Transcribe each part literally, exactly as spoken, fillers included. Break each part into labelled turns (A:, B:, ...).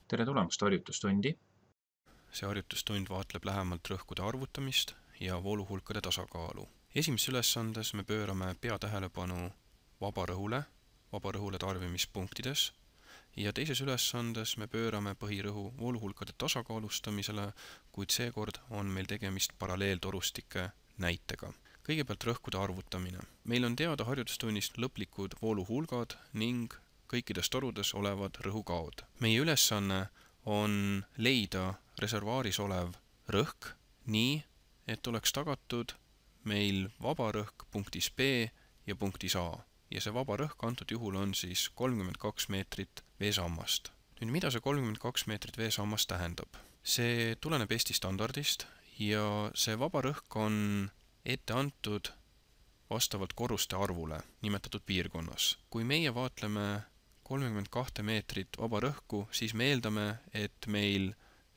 A: Tere tulemast harjutustundi.
B: See harjutustund vaatleb lähemalt rõhkude arvutamist ja vooluhulkade tasakaalu. Esimeses ülesandes me pöörame peatähelepanu vabarõhule, vabarõhule tarbimispunktides ja teises ülesandes me pöörame põhirõhu vooluhulkade tasakaalustamisele, kuid seekord on meil tegemist paralleeltorustike näitega. Kõigepealt rõhkude arvutamine. Meil on teada harjutustunnist lõplikud vooluhulgad ning kõikides torudes olevad rõhukaod. Meie ülesanne on leida reservaaris olev rõhk nii, et oleks tagatud meil vaba rõhk punktis B ja punktis A. Ja see vaba rõhk antud juhul on siis kolmkümmend kaks meetrit veesammast. Nüüd, mida see kolmkümmend kaks meetrit veesammast tähendab? See tuleneb Eesti standardist ja see vaba rõhk on ette antud vastavalt korruste arvule nimetatud piirkonnas. Kui meie vaatleme kolmkümmend kaks meetrit vaba rõhku, siis me eeldame, et meil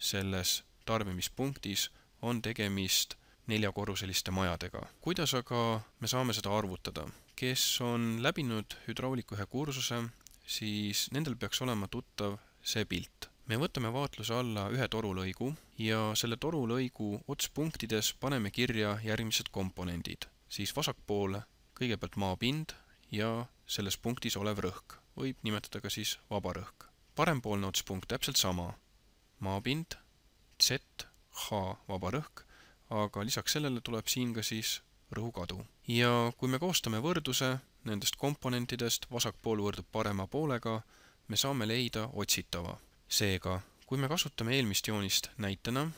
B: selles tarbimispunktis on tegemist neljakorruseliste majadega. Kuidas aga me saame seda arvutada? Kes on läbinud hüdrauliku ühe kursuse, siis nendel peaks olema tuttav see pilt. Me võtame vaatluse alla ühe torulõigu ja selle torulõigu otspunktides paneme kirja järgmised komponendid. Siis vasakpoole kõigepealt maapind ja selles punktis olev rõhk. Võib nimetada ka siis vaba rõhk. Parempoolne otspunkt täpselt sama. Maapind, Z, H, vaba rõhk, aga lisaks sellele tuleb siin ka siis rõhukadu. Ja kui me koostame võrduse nendest komponentidest, vasakpool võrdub parema poolega, me saame leida otsitava. Seega, kui me kasutame eelmist joonist näitena,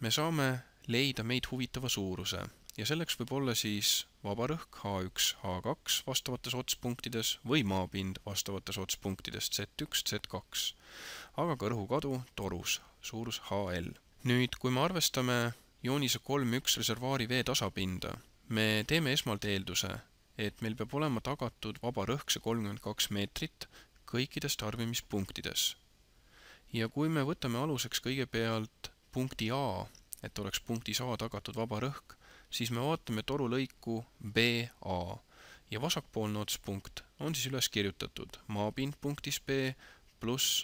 B: me saame leida meid huvitava suuruse. Ja selleks võib olla siis vaba rõhk H üks, H kaks vastavates otspunktides või maapind vastavates otspunktides Z üks, Z kaks, aga ka rõhukadu torus, suurus H L. Nüüd, kui me arvestame joonise kolm üks reservaari vee tasapinda, me teeme esmalt eelduse, et meil peab olema tagatud vaba rõhk see kolmkümmend kaks meetrit kõikides tarbimispunktides. Ja kui me võtame aluseks kõigepealt punkti A, et oleks punktis A tagatud vaba rõhk, siis me vaatame torulõiku B A ja vasakpoolne otspunkt on siis üles kirjutatud maapind punktis B pluss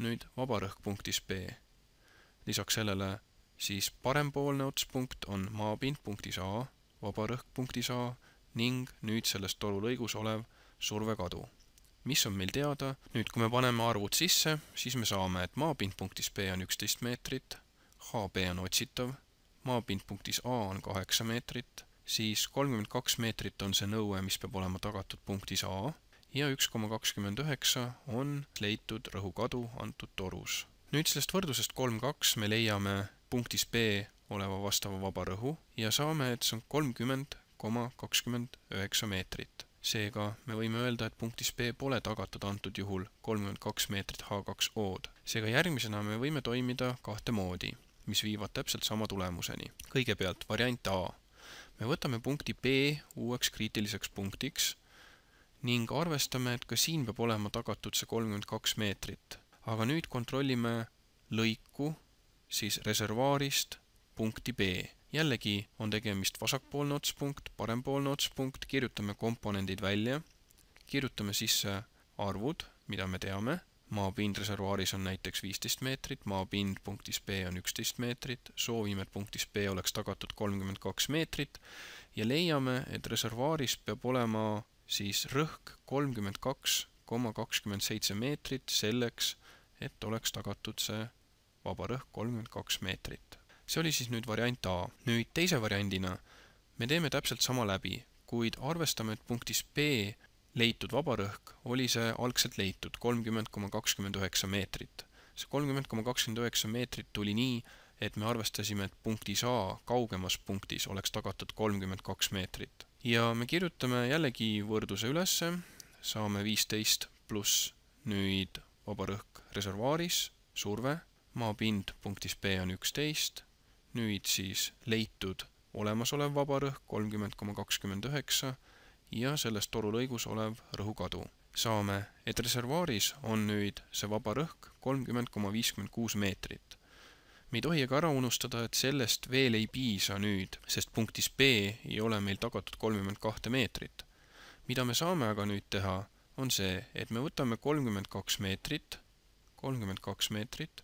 B: nüüd vaba rõhk punktis B. Lisaks sellele siis parempoolne otspunkt on maapind punktis A, vaba rõhk punktis A ning nüüd selles torulõigus olev survekadu. Mis on meil teada? Nüüd, kui me paneme arvud sisse, siis me saame, et maapind punktis B on üksteist meetrit, H B on otsitav, maapind punktis A on kaheksa meetrit, siis kolmkümmend kaks meetrit on see nõue, mis peab olema tagatud punktis A ja üks koma kakskümmend üheksa on leitud rõhukadu antud torus. Nüüd sellest võrdlusest kolm kaks me leiame punktis B oleva vastava vaba rõhu ja saame, et see on kolmkümmend koma kakskümmend üheksa meetrit. Seega me võime öelda, et punktis B pole tagatud antud juhul kolmkümmend kaks meetrit H kaks O-d. Seega järgmisena me võime toimida kahte moodi, mis viivad täpselt sama tulemuseni. Kõigepealt variant A. Me võtame punkti B uueks kriitiliseks punktiks ning arvestame, et ka siin peab olema tagatud see kolmkümmend kaks meetrit. Aga nüüd kontrollime lõiku siis reservaarist punkti B. Jällegi on tegemist vasakpoolne otspunkt, parempoolne otspunkt, kirjutame komponendid välja, kirjutame sisse arvud, mida me teame. Maapind reservaaris on näiteks viisteist meetrit, maapind punktis B on üksteist meetrit, soovime, et punktis B oleks tagatud kolmkümmend kaks meetrit ja leiame, et reservaaris peab olema siis rõhk kolmkümmend kaks koma kakskümmend seitse meetrit selleks, et oleks tagatud see vaba rõhk kolmkümmend kaks meetrit. See oli siis nüüd variant A. Nüüd teise variandina me teeme täpselt sama läbi, kuid arvestame, et punktis B leitud vaba rõhk oli see algselt leitud kolmkümmend koma kakskümmend üheksa meetrit. See kolmkümmend koma kakskümmend üheksa meetrit tuli nii, et me arvestasime, et punktis A kaugemas punktis oleks tagatud kolmkümmend kaks meetrit. Ja me kirjutame jällegi võrduse ülesse, saame viisteist pluss nüüd vaba rõhk reservaaris, surve, maapind punktis B on üksteist, nüüd siis leitud olemasolev vaba rõhk kolmkümmend koma kakskümmend üheksa ja selles torulõigus olev rõhukadu. Saame, et reservaaris on nüüd see vaba rõhk kolmkümmend koma viiskümmend kuus meetrit. Me ei tohi aga ära unustada, et sellest veel ei piisa nüüd, sest punktis B ei ole meil tagatud kolmkümmend kaks meetrit. Mida me saame aga nüüd teha, on see, et me võtame kolmkümmend kaks meetrit kolmkümmend kaks meetrit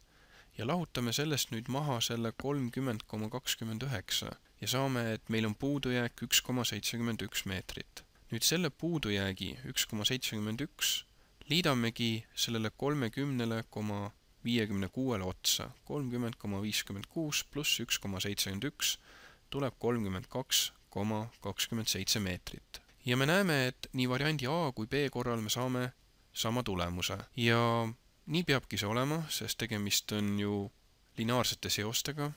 B: ja lahutame sellest nüüd maha selle kolmkümmend koma kakskümmend üheksa ja saame, et meil on puudujääk üks koma seitsekümmend üks meetrit. Nüüd selle puudujäägi üks koma seitsekümmend üks liidamegi sellele kolmekümne koma viiekümne kuue otsa. kolmkümmend koma viiskümmend kuus pluss üks koma seitsekümmend üks tuleb kolmkümmend kaks koma kakskümmend seitse meetrit. Ja me näeme, et nii variandi A kui B korral me saame sama tulemuse. Ja nii peabki see olema, sest tegemist on ju lineaarsete seostega.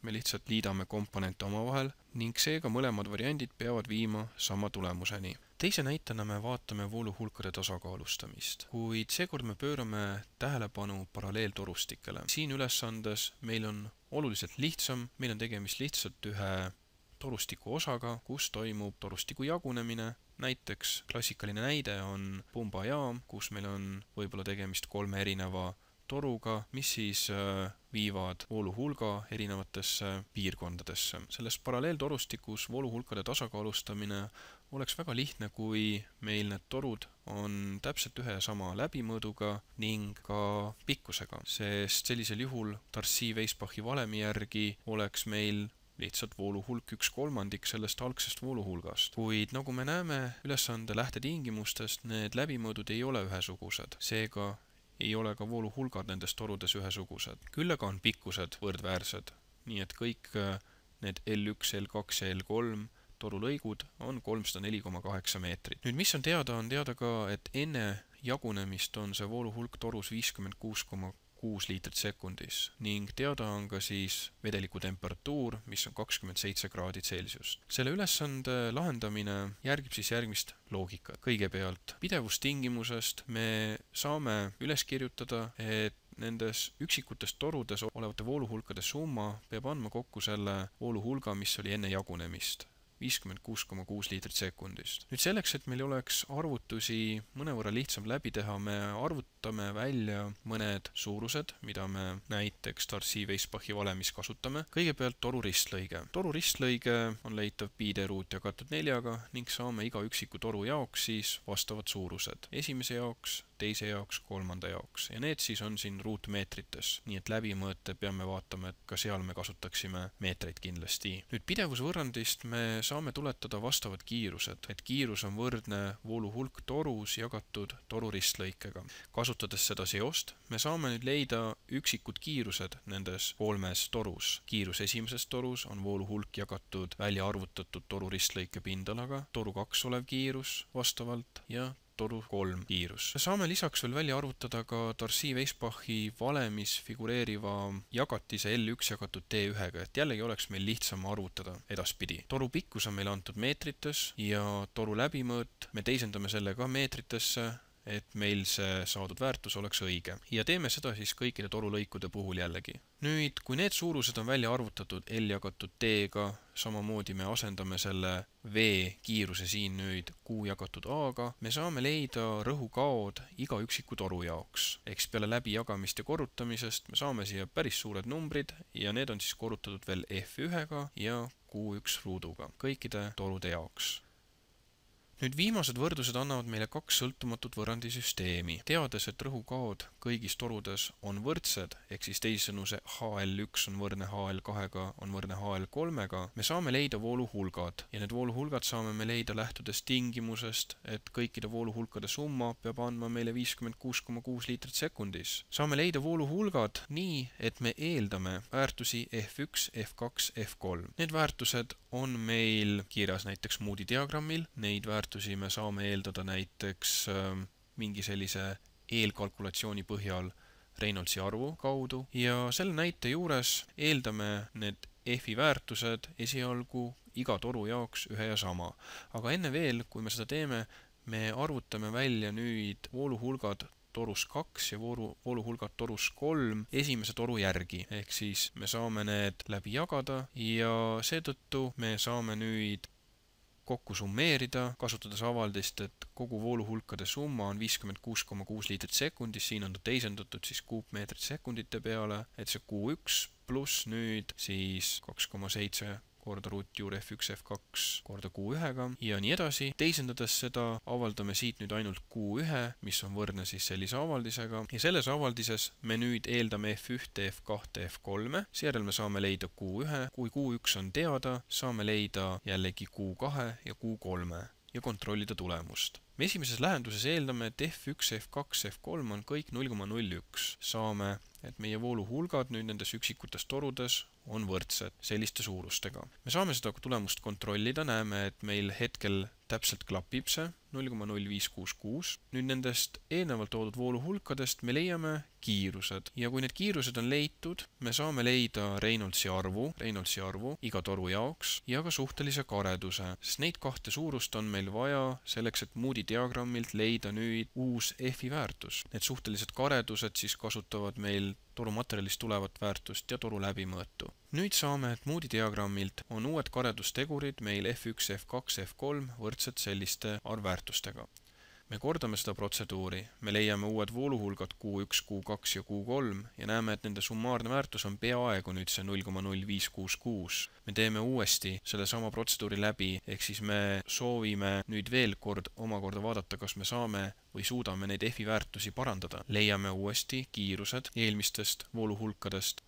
B: Me lihtsalt liidame komponente omavahel ning seega mõlemad variandid peavad viima sama tulemuseni. Teise näitena me vaatame vooluhulkade tasakaalustamist, kuid seekord me pöörame tähelepanu paralleeltorustikele. Siin ülesandes meil on oluliselt lihtsam, meil on tegemist lihtsalt ühe torustiku osaga, kus toimub torustiku jagunemine. Näiteks klassikaline näide on pumbajaam, kus meil on võib-olla tegemist kolme erineva toruga, mis siis viivad vooluhulga erinevatesse piirkondadesse. Selles paralleeltorustikus vooluhulkade tasakaalustamine oleks väga lihtne, kui meil need torud on täpselt ühe ja sama läbimõõduga ning ka pikkusega, sest sellisel juhul Darcy-Weisbachi valemi järgi oleks meil lihtsalt vooluhulk üks kolmandik sellest algsest vooluhulgast. Kuid nagu me näeme ülesande lähtetingimustest, need läbimõõdud ei ole ühesugused, seega ei ole ka vooluhulgad nendes torudes ühesugused. Küll aga on pikkused võrdväärsed, nii et kõik need L üks, L kaks ja L kolm torulõigud on kolmsada neli koma kaheksa meetrit. Nüüd mis on teada, on teada ka, et enne jagunemist on see vooluhulk torus viiskümmend kuus koma kuus liitrit sekundis ning teada on ka siis vedeliku temperatuur, mis on kakskümmend seitse kraadi Celsiust. Selle ülesande lahendamine järgib siis järgmist loogikat. Kõigepealt pidevustingimusest me saame üles kirjutada, et nendes üksikutes torudes olevate vooluhulkade summa peab andma kokku selle vooluhulga, mis oli enne jagunemist. viiskümmend kuus koma kuus liitrit sekundist. Nüüd selleks, et meil oleks arvutusi mõnevõrra lihtsam läbi teha, me arvutame välja mõned suurused, mida me näiteks Darcy-Weisbachi valemis kasutame. Kõigepealt toru ristlõige. Toru ristlõige on leitav pi d ruut jagatud neljaga ning saame iga üksiku toru jaoks siis vastavad suurused. Esimese jaoks, teise jaoks, kolmanda jaoks ja need siis on siin ruutmeetrites. Nii et läbimõõte peame vaatama, et ka seal me kasutaksime meetreid kindlasti. Nüüd pidevusvõrrandist me saame tuletada vastavad kiirused, et kiirus on võrdne vooluhulk torus jagatud toru ristlõikega. Kasutades seda seost, me saame nüüd leida üksikud kiirused nendes kolmes torus. Kiirus esimeses torus on vooluhulk jagatud välja arvutatud toru ristlõike pindalaga, toru kaks olev kiirus vastavalt ja toru kolm kiirus. Me saame lisaks veel välja arvutada ka Darcy-Weisbachi valemis figureeriva jagatise L üks jagatud D ühega, et jällegi oleks meil lihtsam arvutada edaspidi. Toru pikkus on meil antud meetrites ja toru läbimõõt me teisendame selle ka meetritesse, et meil see saadud väärtus oleks õige. Ja teeme seda siis kõikide torulõikude puhul jällegi. Nüüd, kui need suurused on välja arvutatud L jagatud D-ga, samamoodi me asendame selle V kiiruse siin nüüd Q jagatud A-ga, me saame leida rõhukaod iga üksiku toru jaoks. Eks peale läbijagamist ja korrutamisest me saame siia päris suured numbrid ja need on siis korrutatud veel F ühega ja Q üks ruuduga kõikide torude jaoks. Nüüd viimased võrdlused annavad meile kaks sõltumatut võrrandisüsteemi. Teades, et rõhukaod kõigis torudes on võrdsed, ehk siis teisisõnu see H L üks on võrdne H L kahega, on võrdne H L kolmega, me saame leida vooluhulgad ja need vooluhulgad saame me leida lähtudes tingimusest, et kõikide vooluhulkade summa peab andma meile viiskümmend kuus koma kuus liitrit sekundis. Saame leida vooluhulgad nii, et me eeldame väärtusi F üks, F kaks, F kolm. Need väärtused on meil kirjas näiteks Moody diagrammil, neid väärtusi me saame eeldada näiteks mingi sellise eelkalkulatsiooni põhjal Reynoldsi arvu kaudu ja selle näite juures eeldame need F-i väärtused esialgu iga toru jaoks ühe ja sama. Aga enne veel, kui me seda teeme, me arvutame välja nüüd vooluhulgad torus kaks ja voolu, vooluhulgad torus kolm esimese toru järgi. Ehk siis me saame need läbi jagada ja seetõttu me saame nüüd kokku summeerida, kasutades avaldist, et kogu vooluhulkade summa on viiskümmend kuus koma kuus liitrit sekundis, siin on ta teisendatud siis kuupmeetrit sekundite peale, et see Q üks pluss nüüd siis kaks koma seitse korda ruutjuur F üks F kaks korda Q ühega ja nii edasi. Teisendades seda avaldame siit nüüd ainult Q ühe, mis on võrdne siis sellise avaldisega ja selles avaldises me nüüd eeldame F üks, F kaks, F kolm. Seejärel me saame leida Q ühe. Kui Q üks on teada, saame leida jällegi Q kaks ja Q kolm ja kontrollida tulemust. Me esimeses lähenduses eeldame, et F üks, F kaks, F kolm on kõik null koma null üks. Saame, et meie vooluhulgad nüüd nendes üksikutes torudes on võrdsed selliste suurustega. Me saame seda tulemust kontrollida, näeme, et meil hetkel täpselt klapib see null koma null viis kuus kuus. Nüüd nendest eelnevalt toodud vooluhulkadest me leiame kiirused ja kui need kiirused on leitud, me saame leida Reynoldsi arvu, Reynoldsi arvu iga toru jaoks ja ka suhtelise kareduse, sest neid kahte suurust on meil vaja selleks, et Moody diagrammilt leida nüüd uus F-i väärtus. Need suhtelised karedused siis kasutavad meil torumaterjalist tulevat väärtust ja toru läbimõõtu. Nüüd saame, et Moody diagrammilt on uued karedustegurid meil F üks, F kaks, F kolm võrdsed selliste arvväärtustega. Me kordame seda protseduuri, me leiame uued vooluhulgad Q üks, Q kaks ja Q kolm ja näeme, et nende summaarne väärtus on peaaegu nüüd see null koma null viis kuus kuus. Me teeme uuesti selle sama protseduuri läbi, ehk siis me soovime nüüd veel kord omakorda vaadata, kas me saame või suudame neid F-i väärtusi parandada. Leiame uuesti kiirused eelmistest vooluhulkadest.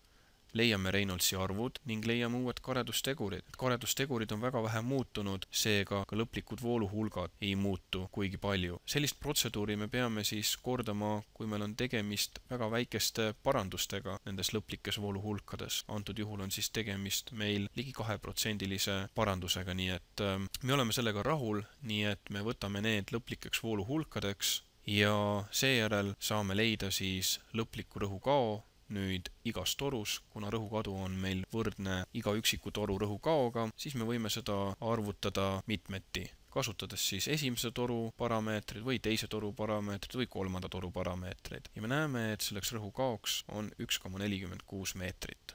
B: Leiame Reynoldsi arvud ning leiame uued karedustegurid. Karedustegurid on väga vähe muutunud, seega ka lõplikud vooluhulgad ei muutu kuigi palju. Sellist protseduuri me peame siis kordama, kui meil on tegemist väga väikeste parandustega nendes lõplikes vooluhulkades. Antud juhul on siis tegemist meil ligi kahe protsendilise parandusega, nii et me oleme sellega rahul, nii et me võtame need lõplikeks vooluhulkadeks ja seejärel saame leida siis lõpliku rõhukao nüüd igas torus, kuna rõhukadu on meil võrdne iga üksiku toru rõhukaoga, siis me võime seda arvutada mitmeti, kasutades siis esimese toru parameetrid või teise toru parameetrid või kolmanda toru parameetrid. Ja me näeme, et selleks rõhukaoks on üks koma nelikümmend kuus meetrit.